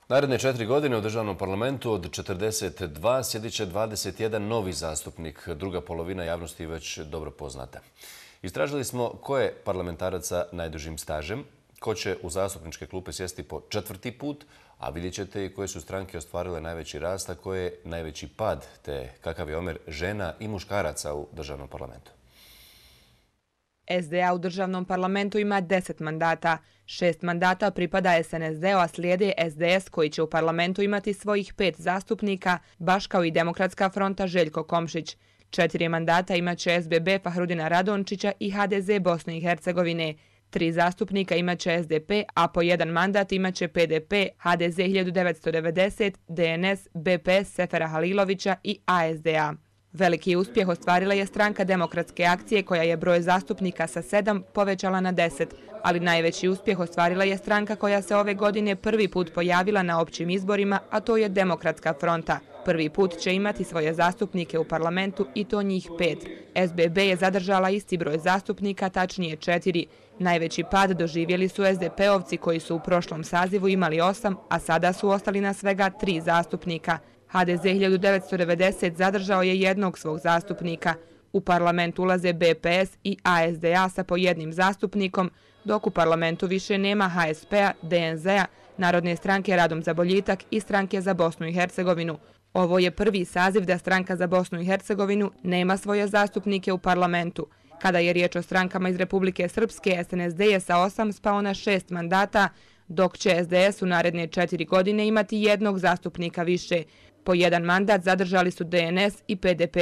Naredne 4 godine u državnom parlamentu od 42 sjedit će 21 novi zastupnik. Druga polovina javnosti već dobro poznata. Istražili smo ko je parlamentarac sa najdužim stažem, ko će u zastupničke klupe sjesti po 4. put, a vidjet ćete i koje su stranke ostvarile najveći rast, a koje je najveći pad, te kakav je omjer žena i muškaraca u državnom parlamentu. SDA u državnom parlamentu ima 10 mandata. 6 mandata pripada SNSD-u, a slijede SDS koji će u parlamentu imati svojih 5 zastupnika, baš kao i Demokratska fronta Željko Komšić. 4 mandata imaće SBB Fahrudina Radončića i HDZ Bosne i Hercegovine. 3 zastupnika imaće SDP, a po 1 mandat imaće PDP, HDZ 1990, DNS, BPS Sefera Halilovića i ASDA. Veliki uspjeh ostvarila je stranka Demokratske akcije koja je broj zastupnika sa 7 povećala na 10, ali najveći uspjeh ostvarila je stranka koja se ove godine prvi put pojavila na općim izborima, a to je Demokratska fronta. Prvi put će imati svoje zastupnike u parlamentu i to njih 5. SBB je zadržala isti broj zastupnika, tačnije 4. Najveći pad doživjeli su SDP-ovci koji su u prošlom sazivu imali 8, a sada su ostali na svega 3 zastupnika. HDZ 1990 zadržao je jednog svog zastupnika. U parlament ulaze BPS i ASDA sa po 1 zastupnikom, dok u parlamentu više nema HSP-a, DNZ-a, Narodne stranke Radom za boljitak i Stranke za Bosnu i Hercegovinu. Ovo je prvi saziv da Stranka za Bosnu i Hercegovinu nema svoje zastupnike u parlamentu. Kada je riječ o strankama iz Republike Srpske, SNSD je sa 8 spao na 6 mandata, dok će SDS u naredne 4 godine imati jednog zastupnika više. Po 1 mandat zadržali su DNS i PDP.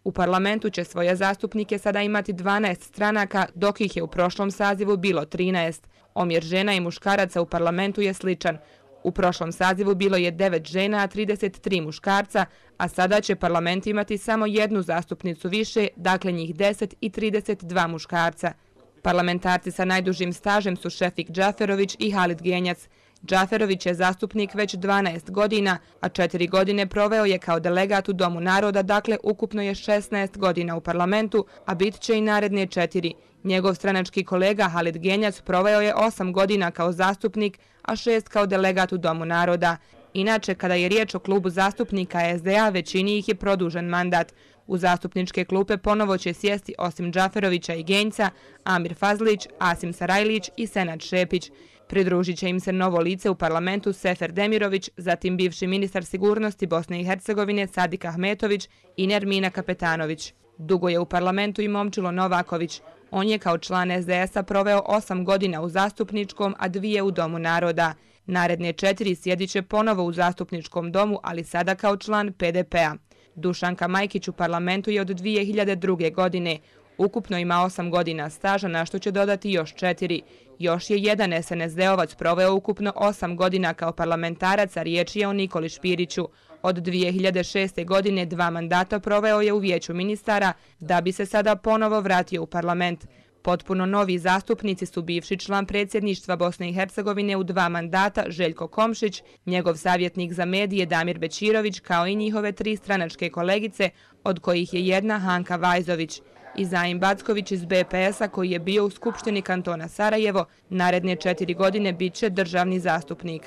U parlamentu će svoje zastupnike sada imati 12 stranaka, dok ih je u prošlom sazivu bilo 13. Omjer žena i muškaraca u parlamentu je sličan. U prošlom sazivu bilo je 9 žena, a 33 muškarca, a sada će parlament imati samo jednu zastupnicu više, dakle njih 10 i 32 muškarca. Parlamentarci sa najdužim stažem su Šefik Džaferović i Halid Genjac. Džaferović je zastupnik već 12 godina, a 4 godine proveo je kao delegat u Domu naroda, dakle ukupno je 16 godina u parlamentu, a bit će i naredne 4. Njegov stranački kolega Halid Genjac proveo je 8 godina kao zastupnik, a 6 kao delegat u Domu naroda. Inače, kada je riječ o klubu zastupnika SDA, većini ih je produžen mandat. U zastupničke klupe ponovo će sjesti osim Džaferovića i Genjca, Amir Fazlić, Asim Sarajlić i Senad Šepić. Pridružit će im se novo lice u parlamentu Sefer Demirović, zatim bivši ministar sigurnosti Bosne i Hercegovine Sadik Ahmetović i Nermina Kapetanović. Dugo je u parlamentu i Momčilo Novaković. On je kao član SDS-a proveo 8 godina u zastupničkom, a 2 u Domu naroda. Naredne 4 sjedit će ponovo u zastupničkom domu, ali sada kao član PDP-a. Dušanka Majkić u parlamentu je od 2002. godine. Ukupno ima 8 godina staža, na što će dodati još 4. Još je jedan SNSD-ovac proveo ukupno 8 godina kao parlamentarac, a riječ je o Nikoli Špiriću. Od 2006. godine 2 mandata proveo je u vijeću ministara, da bi se sada ponovo vratio u parlament. Potpuno novi zastupnici su bivši član predsjedništva Bosne i Hercegovine u 2 mandata Željko Komšić, njegov savjetnik za medije Damir Bećirović, kao i njihove 3 stranačke kolegice, od kojih je jedna Hanka Vajzović. I Zaim Backović iz BPS-a koji je bio u Skupštini kantona Sarajevo, naredne 4 godine bit će državni zastupnik.